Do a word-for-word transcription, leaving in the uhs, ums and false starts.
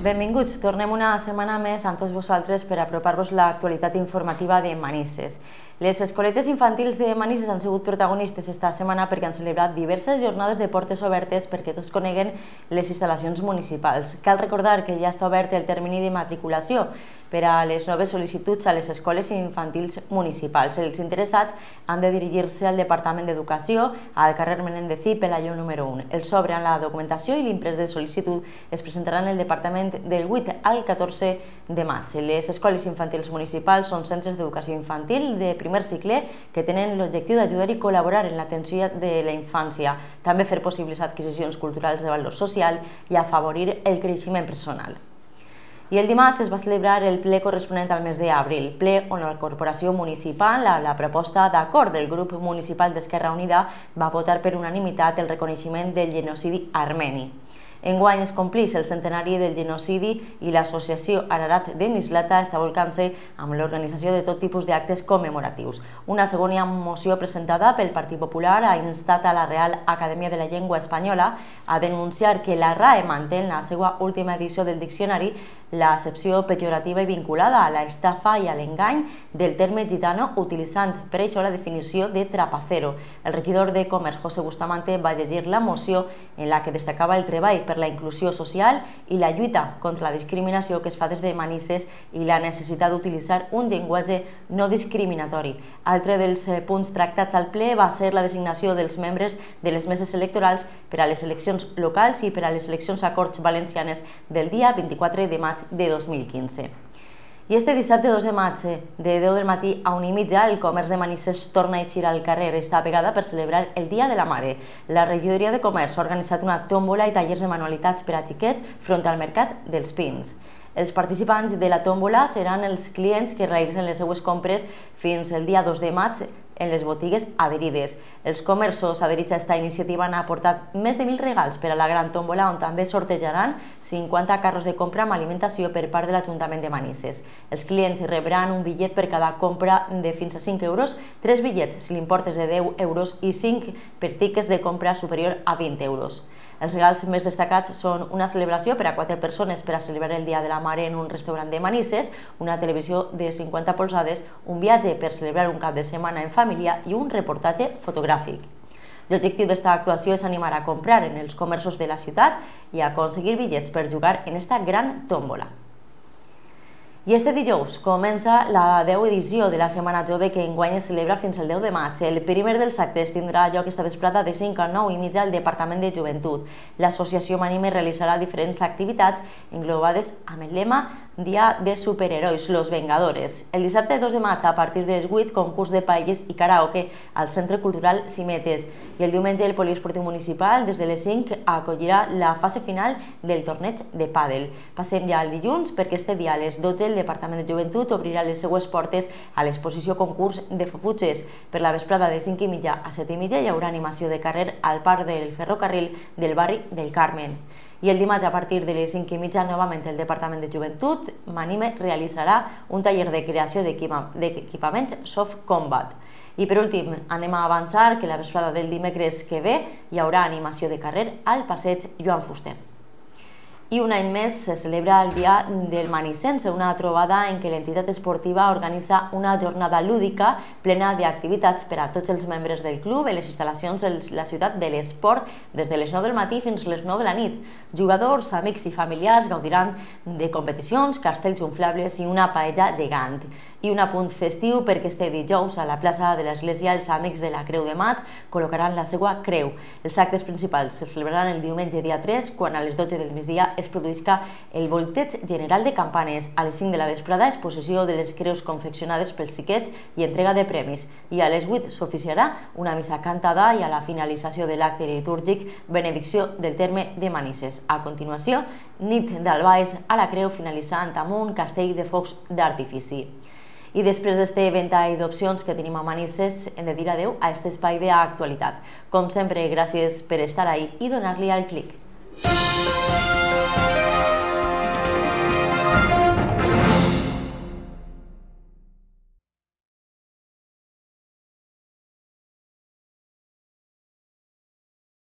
Benvinguts, tornem una setmana més amb tots vosaltres per apropar-vos l'actualitat informativa de Manises. Les escoletes infantils de Manises han sigut protagonistes esta setmana perquè han celebrat diverses jornades de portes obertes perquè tots coneguen les instal·lacions municipals. Cal recordar que ja està obert el termini de matriculació per a les noves sol·licituds a les escoles infantils municipals. Els interessats han de dirigir-se al Departament d'Educació, al carrer Menendez i Pelayo número u. El sobre amb la documentació i l'imprès de sol·licitud es presentaran al Departament del vuit al catorze de maig. Les escoles infantils municipals són centres d'educació infantil de primer cicle que tenen l'objectiu d'ajudar i col·laborar en l'atenció de la infància, també fer possibles adquisicions culturals de valor social i afavorir el creixement personal. I el dimarts es va celebrar el ple corresponent al mes d'abril, ple on la corporació municipal, a la proposta d'acord del grup municipal d'Esquerra Unida, va votar per unanimitat el reconeixement del genocidi armeni. Enguany es complix el centenari del genocidi i l'associació Ararat de Mislata està volcant-se amb l'organització de tot tipus d'actes commemoratius. Una segona moció presentada pel Partit Popular ha instat a la Real Acadèmia de la Llengua Espanyola a denunciar que la R A E manté en la seva última edició del diccionari l'accepció pejorativa i vinculada a l'estafa i a l'engany del terme gitano, utilitzant per això la definició de trapacero. El regidor de Comerç, José Bustamante, va llegir la moció en la que destacava el treball per la inclusió social i la lluita contra la discriminació que es fa des de Manises i la necessitat d'utilitzar un llenguatge no discriminatori. Altre dels punts tractats al ple va ser la designació dels membres de les meses electorals per a les eleccions locals i per a les eleccions a Corts Valencianes del dia vint-i-quatre de maig de dos mil quinze. I este dissabte dos de maig, de deu del matí a una i mitja, el comerç de Manises torna a eixir al carrer esta vegada per celebrar el Dia de la Mare. La regidoria de Comerç ha organitzat una tòmbola i tallers de manualitats per a xiquets front al Mercat dels Pins. Els participants de la tòmbola seran els clients que realitzen les seues compres fins el dia dos de maig en les botigues adherides. Els comerços adherits a aquesta iniciativa han aportat més de mil regals per a la gran tòmbola, on també sortejaran cinquanta carros de compra amb alimentació per part de l'Ajuntament de Manises. Els clients rebran un bitllet per cada compra de fins a cinc euros, tres bitllets si l'import és de deu euros i cinc per tickets de compra superior a vint euros. Els regals més destacats són una celebració per a quatre persones per a celebrar el Dia de la Mare en un restaurant de Manises, una televisió de cinquanta polzades, un viatge per celebrar un cap de setmana en família i un reportatge fotogràfic. L'objectiu d'esta actuació és animar a comprar en els comerços de la ciutat i a aconseguir bitllets per jugar en esta gran tòmbola. I este dijous comença la deu edició de la Setmana Jove que enguany es celebra fins al deu de maig. El primer dels actes tindrà lloc esta vesprada de cinc a nou i mitja al Departament de Joventut. L'associació Manime realitzarà diferents activitats englobades amb el lema Dia de Superherois, Los Vengadores. El dissabte dos de maig, a partir de les vuit, concurs de paelles i karaoke al Centre Cultural Cimetes. I el diumenge el Poliesportiu Municipal, des de les cinc, acollirà la fase final del torneig de pàdel. Passem ja al dilluns, perquè este dia a les dotze el Departament de Joventut obrirà les seues portes a l'exposició concurs de fofutxes. Per la vesprada de cinc i mitja a set i mitja hi haurà animació de carrer al parc del ferrocarril del barri del Carmen. I el dimarts, a partir de les cinc i mitja, novament el Departament de Joventut Manime realitzarà un taller de creació d'equipaments Soft Combat. I per últim, anem a avançar que la vesprada del dimecres que ve hi haurà animació de carrer al passeig Joan Fuster. I un any més se celebra el Dia del Manisense, una trobada en què l'entitat esportiva organitza una jornada lúdica plena d'activitats per a tots els membres del club en les instal·lacions de la ciutat de l'esport des de les nou del matí fins a les nou de la nit. Jugadors, amics i familiars gaudiran de competicions, castells inflables i una paella gegant. I un apunt festiu perquè este dijous a la plaça de l'Església els Amics de la Creu de Maig col·locaran la seva creu. Els actes principals se celebraran el diumenge dia tres, quan a les dotze del migdia es produïsca el volteig general de campanes. A les cinc de la vesprada, exposició de les creus confeccionades pels xiquets i entrega de premis. I a les vuit s'oficiarà una missa cantada i a la finalització de l'acte litúrgic benedicció del terme de Manises. A continuació, nit d'albaes a la creu finalitzant amb un castell de focs d'artifici. I després d'este ventall d'opcions que tenim a Manises, hem de dir adeu a aquest espai d'actualitat. Com sempre, gràcies per estar ahí i donar-li al clic.